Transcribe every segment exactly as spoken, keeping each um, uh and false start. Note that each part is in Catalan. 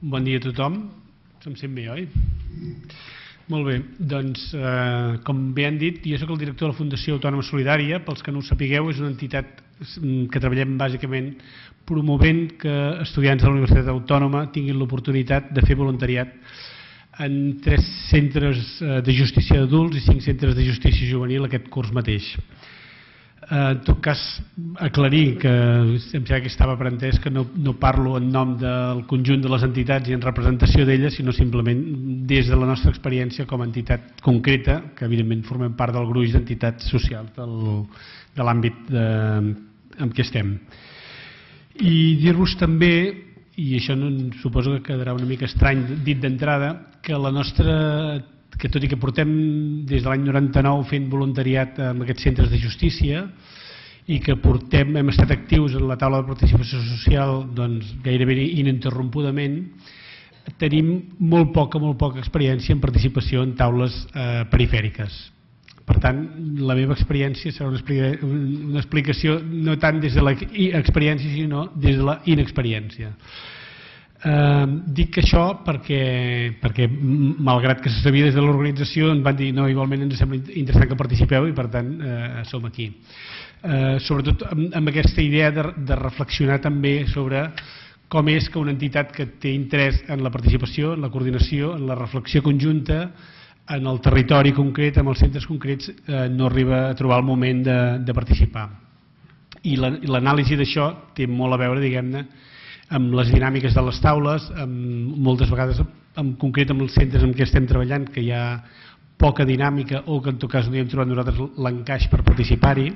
Bon dia a tothom. Se'm sent bé, oi? Molt bé, doncs, eh, com bé han dit, jo soc el director de la Fundació Autònoma Solidària. Pels que no ho sapigueu, és una entitat que treballem bàsicament promovent que estudiants de la Universitat Autònoma tinguin l'oportunitat de fer voluntariat en tres centres de justícia d'adults i cinc centres de justícia juvenil aquest curs mateix. En tot cas, aclarir que em sembla que estava aprentès que no, no parlo en nom del conjunt de les entitats i en representació d'elles, sinó simplement des de la nostra experiència com a entitat concreta, que evidentment formem part del gruix d'entitats socials del, de l'àmbit en què estem. I dir-vos també, i això no, suposo que quedarà una mica estrany dit d'entrada, que la nostra... que tot i que portem des de l'any noranta-nou fent voluntariat en aquests centres de justícia i que portem, hem estat actius en la taula de participació social doncs, gairebé ininterrompudament, tenim molt poca, molt poca experiència en participació en taules eh, perifèriques. Per tant, la meva experiència serà una explicació, una explicació no tant des de l'experiència sinó des de la inexperiència. Eh, dic això perquè, perquè malgrat que se sabia des de l'organització em van dir no, igualment ens sembla interessant que participeu i per tant eh, som aquí. Eh, sobretot amb, amb aquesta idea de, de reflexionar també sobre com és que una entitat que té interès en la participació, en la coordinació, en la reflexió conjunta, en el territori concret, en els centres concrets, eh, no arriba a trobar el moment de, de participar. I l'anàlisi d'això té molt a veure, diguem-ne, amb les dinàmiques de les taules, amb, moltes vegades en concret amb els centres en què estem treballant, que hi ha poca dinàmica o que en tot cas no hi hem trobat nosaltres l'encaix per participar-hi.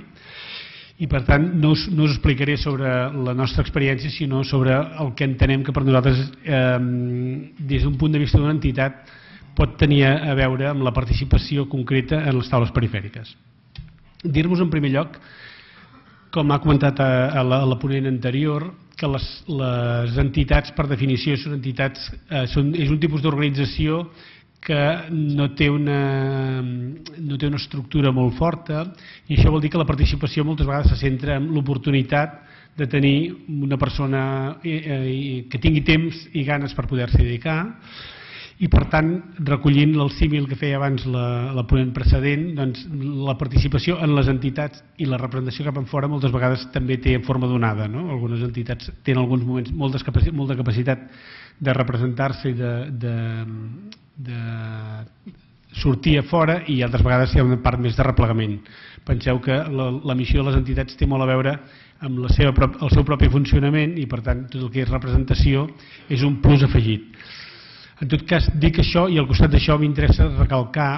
I per tant no us, no us explicaré sobre la nostra experiència, sinó sobre el que entenem que per nosaltres, eh, des d'un punt de vista d'una entitat, pot tenir a veure amb la participació concreta en les taules perifèriques. Dir-vos en primer lloc, com ha comentat a, a, la, a la ponent anterior, que les, les entitats per definició són entitats, eh, són, és un tipus d'organització que no té, una, no té una estructura molt forta i això vol dir que la participació moltes vegades se centra en l'oportunitat de tenir una persona eh, eh, que tingui temps i ganes per poder-s'hi dedicar. I per tant, recollint el símil que feia abans la, la ponent precedent, doncs, la participació en les entitats i la representació cap enfora moltes vegades també té en forma donada. No? Algunes entitats tenen alguns moments moltes capaci molta capacitat de representar-se i de, de, de sortir a fora i altres vegades hi ha una part més de replegament. Penseu que la, la missió de les entitats té molt a veure amb la seva, el seu propi funcionament i per tant tot el que és representació és un plus afegit. En tot cas, dic això i al costat d'això m'interessa recalcar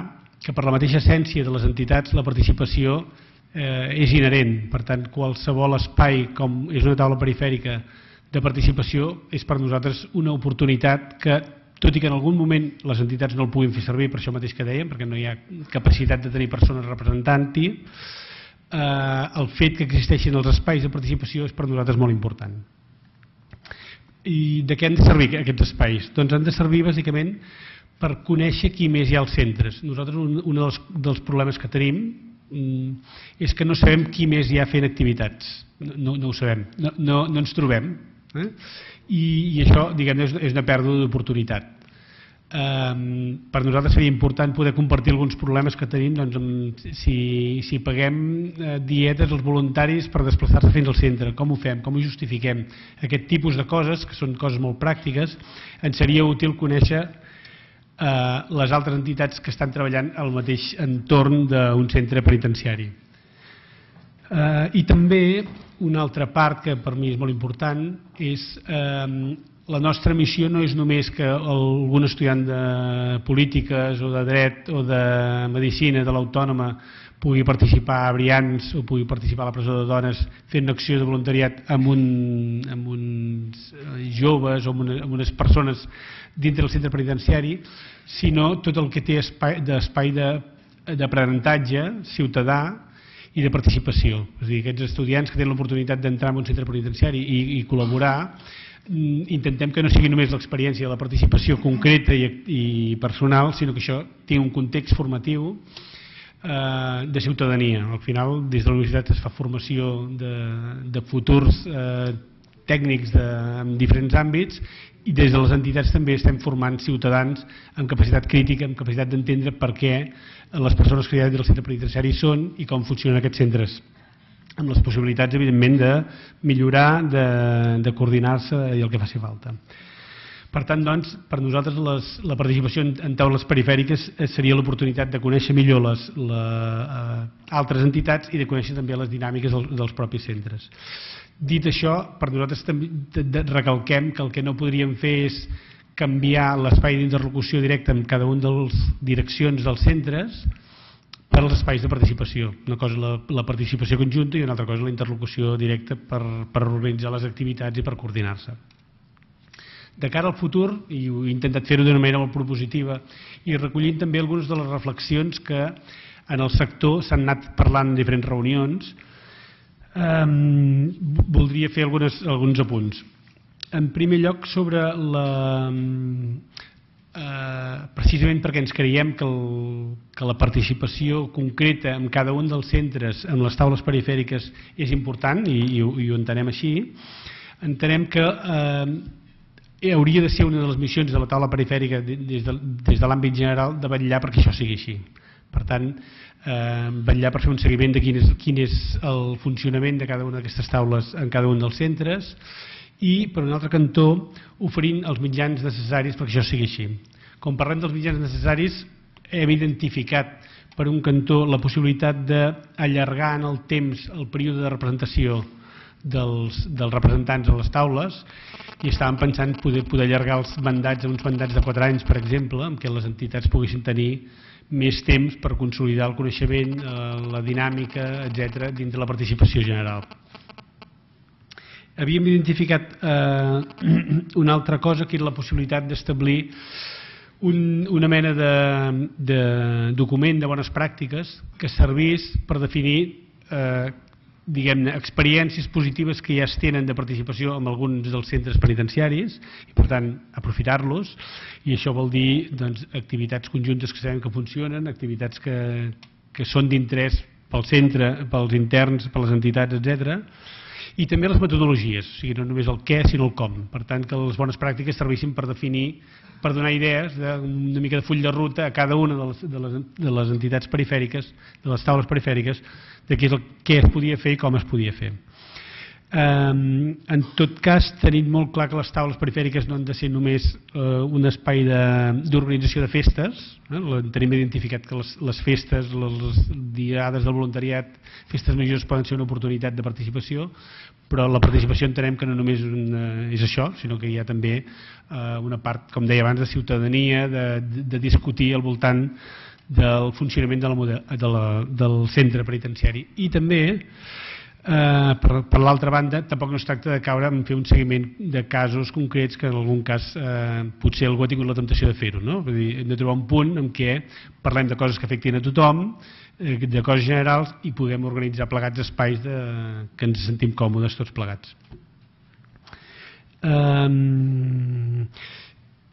que per la mateixa essència de les entitats la participació eh, és inherent. Per tant, qualsevol espai com és una taula perifèrica de participació és per nosaltres una oportunitat que, tot i que en algun moment les entitats no el puguin fer servir, per això mateix que dèiem, perquè no hi ha capacitat de tenir persones representant-hi, eh, el fet que existeixin els espais de participació és per nosaltres molt important. I de què han de servir aquests espais? Doncs han de servir bàsicament per conèixer qui més hi ha als centres. Nosaltres un, un dels, dels problemes que tenim mm, és que no sabem qui més hi ha fent activitats. No, no ho sabem, no, no, no ens trobem. Eh? I, I això, diguem-ne, és, és una pèrdua d'oportunitat. Um, per nosaltres seria important poder compartir alguns problemes que tenim doncs, amb, si, si paguem uh, dietes als voluntaris per desplaçar-se fins al centre, com ho fem, com ho justifiquem, aquest tipus de coses que són coses molt pràctiques. Ens seria útil conèixer uh, les altres entitats que estan treballant al mateix entorn d'un centre penitenciari. Uh, I també una altra part que per mi és molt important és uh, la nostra missió no és només que algun estudiant de polítiques o de dret o de medicina de l'Autònoma pugui participar a Brians o pugui participar a la presó de dones fent una acció de voluntariat amb, un, amb uns joves o amb, una, amb unes persones dintre del centre penitenciari, sinó tot el que té d'espai d'aprenentatge ciutadà i de participació. És a dir, aquests estudiants que tenen l'oportunitat d'entrar en un centre penitenciari i, i col·laborar, intentem que no sigui només l'experiència de la participació concreta i, i personal, sinó que això tingui un context formatiu eh, de ciutadania. Al final, des de la universitat es fa formació de, de futurs eh, tècnics de, en diferents àmbits, i des de les entitats també estem formant ciutadans amb capacitat crítica, amb capacitat d'entendre per què les persones que hi ha del centre penitenciari són i com funcionen aquests centres, amb les possibilitats, evidentment, de millorar, de, de coordinar-se i el que faci falta. Per tant, doncs, per nosaltres les, la participació en, en taules perifèriques seria l'oportunitat de conèixer millor les la, uh, altres entitats i de conèixer també les dinàmiques dels, dels propis centres. Dit això, per nosaltres també recalquem que el que no podríem fer és canviar l'espai d'interlocució directa amb cada una de les direccions dels centres per als espais de participació. Una cosa la, la participació conjunta i una altra cosa la interlocució directa per, per organitzar les activitats i per coordinar-se. De cara al futur, i ho he intentat fer-ho d'una manera molt propositiva, i recollint també algunes de les reflexions que en el sector s'han anat parlant en diferents reunions, eh, voldria fer algunes, alguns apunts. En primer lloc, sobre la... Eh, precisament perquè ens creiem que, el, que la participació concreta en cada un dels centres, en les taules perifèriques, és important, i, i, i ho entenem així. Entenem que eh, hauria de ser una de les missions de la taula perifèrica des de, des de l'àmbit general de vetllar perquè això sigui així. Per tant, eh, vetllar per fer un seguiment de quin és, quin és el funcionament de cada una d'aquestes taules en cada un dels centres i, per un altre cantó, oferint els mitjans necessaris perquè això sigui així. Com parlem dels mitjans necessaris, hem identificat per un cantó la possibilitat d'allargar en el temps el període de representació dels, dels representants a les taules i estàvem pensant poder, poder allargar els mandats a uns mandats de quatre anys, per exemple, en què les entitats poguessin tenir més temps per consolidar el coneixement, la dinàmica, etcètera, dins de la participació general. Havíem identificat eh, una altra cosa, que era la possibilitat d'establir un, una mena de, de document de bones pràctiques que servís per definir eh, diguem-ne, experiències positives que ja es tenen de participació en alguns dels centres penitenciaris i, per tant, aprofitar-los, i això vol dir doncs, activitats conjuntes que sabem que funcionen, activitats que, que són d'interès pel centre, pels interns, per les entitats, etcètera, i també les metodologies, o sigui, no només el què, sinó el com. Per tant, que les bones pràctiques servissin per definir, per donar idees, una mica de full de ruta a cada una de les, de les, de les entitats perifèriques, de les taules perifèriques, de què, és el, què es podia fer i com es podia fer. Um, en tot cas, tenim molt clar que les taules perifèriques no han de ser només uh, un espai d'organització de, de festes. Eh? Tenim identificat que les, les festes, les, les diades del voluntariat, festes majors poden ser una oportunitat de participació, però la participació entenem que no només una, és això, sinó que hi ha també uh, una part, com deia abans, de ciutadania, de, de, de discutir al voltant del funcionament de la model, de la, del centre penitenciari. I també, eh, per, per l'altra banda, tampoc no es tracta de caure en fer un seguiment de casos concrets que en algun cas eh, potser algú ha tingut la temptació de fer-ho. No? Vull dir, hem de trobar un punt en què parlem de coses que afectin a tothom, eh, de coses generals, i podem organitzar plegats espais de, que ens sentim còmodes tots plegats. Um,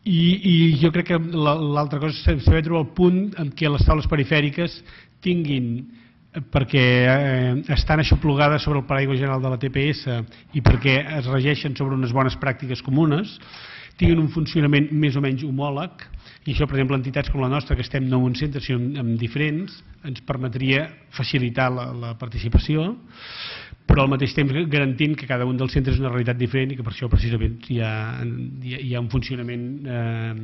I, i jo crec que l'altra cosa és saber trobar el punt en què les taules perifèriques tinguin, perquè eh, estan aixoplugades sobre el paraigua general de la T P S i perquè es regeixen sobre unes bones pràctiques comunes, tinguin un funcionament més o menys homòleg, i això, per exemple, entitats com la nostra, que estem no en un centre sinó en diferents, ens permetria facilitar la, la participació, però al mateix temps garantint que cada un dels centres és una realitat diferent i que per això precisament hi ha, hi ha, hi ha un funcionament eh,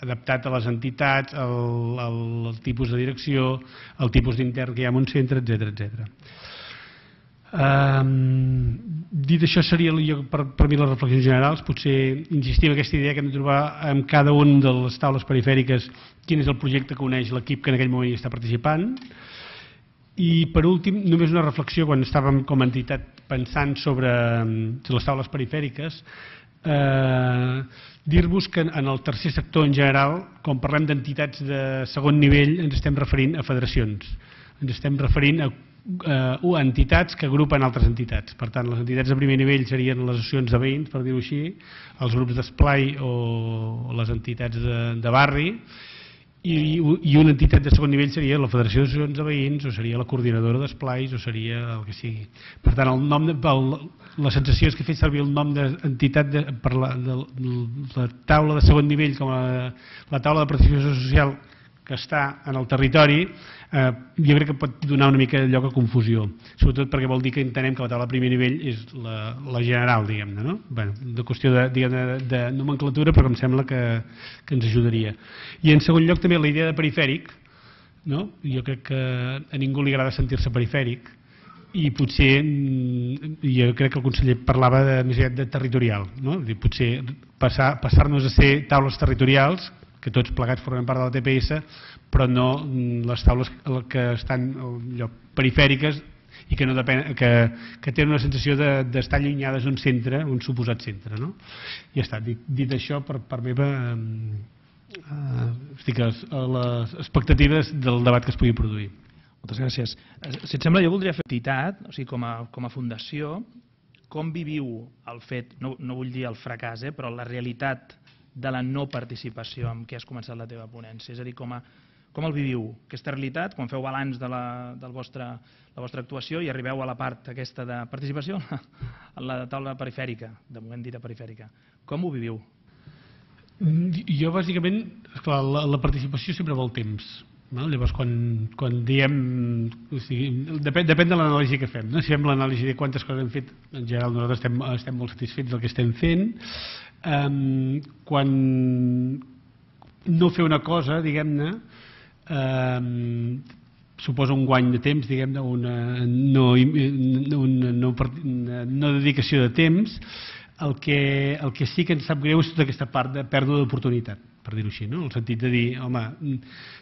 adaptat a les entitats, al, al, al tipus de direcció, al tipus d'intern que hi ha en un centre, etcètera, etcètera. Um, dit això, seria jo, per, per mi les reflexions generals. Potser insistir en aquesta idea que hem de trobar en cada una de les taules perifèriques quin és el projecte que uneix l'equip que en aquell moment hi està participant. I per últim, només una reflexió quan estàvem com a entitat pensant sobre les taules perifèriques, eh, dir-vos que en el tercer sector en general, quan parlem d'entitats de segon nivell, ens estem referint a federacions, ens estem referint a eh, entitats que agrupen altres entitats. Per tant, les entitats de primer nivell serien les associacions de veïns, per dir-ho així, els grups d'esplai o les entitats de, de barri, I, i una entitat de segon nivell seria la Federació d'Associacions de Veïns, o seria la coordinadora d'esplais, o seria el que sigui. Per tant, el nom de, el, la sensació és que he fet servir el nom d'entitat de, per la, de, de, la taula de segon nivell com a la taula de participació social que està en el territori, eh, jo crec que pot donar una mica lloc a confusió, sobretot perquè vol dir que entenem que la taula de primer nivell és la, la general, diguem-ne, no? Bé, de qüestió de, de, de nomenclatura, però em sembla que, que ens ajudaria. I en segon lloc també la idea de perifèric, no? Jo crec que a ningú li agrada sentir-se perifèric, i potser, jo crec que el conseller parlava de, més aviat de territorial, no? Potser passar, passar-nos a ser taules territorials, que tots plegats formem part de la T P S, però no les taules que estan allò, perifèriques i que, no depèn, que, que tenen una sensació d'estar de, allunyades d'un centre, un suposat centre. No? I ja està, dit, dit això, per part meva, eh, estic a les expectatives del debat que es pugui produir. Moltes gràcies. Si et sembla, jo voldria fer entitat, o sigui, com a, com a fundació, com viviu el fet, no, no vull dir el fracàs, eh, però la realitat de la no participació amb què has començat la teva ponència, és a dir, com, a, com el viviu, aquesta realitat, quan feu balanç de la, del vostre, la vostra actuació i arribeu a la part aquesta de participació, en la taula perifèrica, de moment dita perifèrica. Com ho viviu? Jo, bàsicament, esclar, la, la participació sempre vol temps. No? Llavors, quan, quan diem... O sigui, depèn, depèn de l'anàlisi que fem. No? Si fem l'anàlisi de quantes coses hem fet, en general nosaltres estem, estem molt satisfets del que estem fent. Um, quan no fer una cosa, diguem-ne, um, suposa un guany de temps, diguem-ne, una, no, una, no, una no dedicació de temps, el que, el que sí que ens sap greu és tota aquesta part de pèrdua d'oportunitat, per dir-ho així, no? En el sentit de dir, home,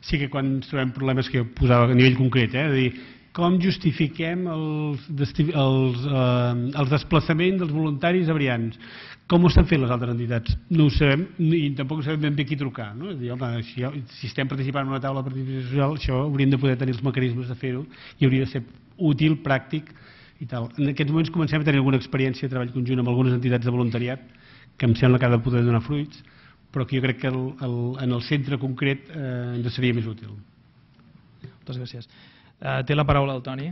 sí que quan ens trobem problemes que jo posava a nivell concret, eh, de dir, com justifiquem els, els, eh, els desplaçaments dels voluntaris a Brians? Com ho estan fent les altres entitats? No ho sabem i tampoc sabem ben bé qui trucar. No? És dir, home, si, si estem participant en una taula de participació social, això hauríem de poder tenir els mecanismes de fer-ho i hauria de ser útil, pràctic i tal. En aquests moments comencem a tenir alguna experiència de treball conjunt amb algunes entitats de voluntariat que em sembla que ha de poder donar fruits, però que jo crec que el, el, en el centre concret eh, ens seria més útil. Moltes gràcies. Uh, té la paraula el Toni.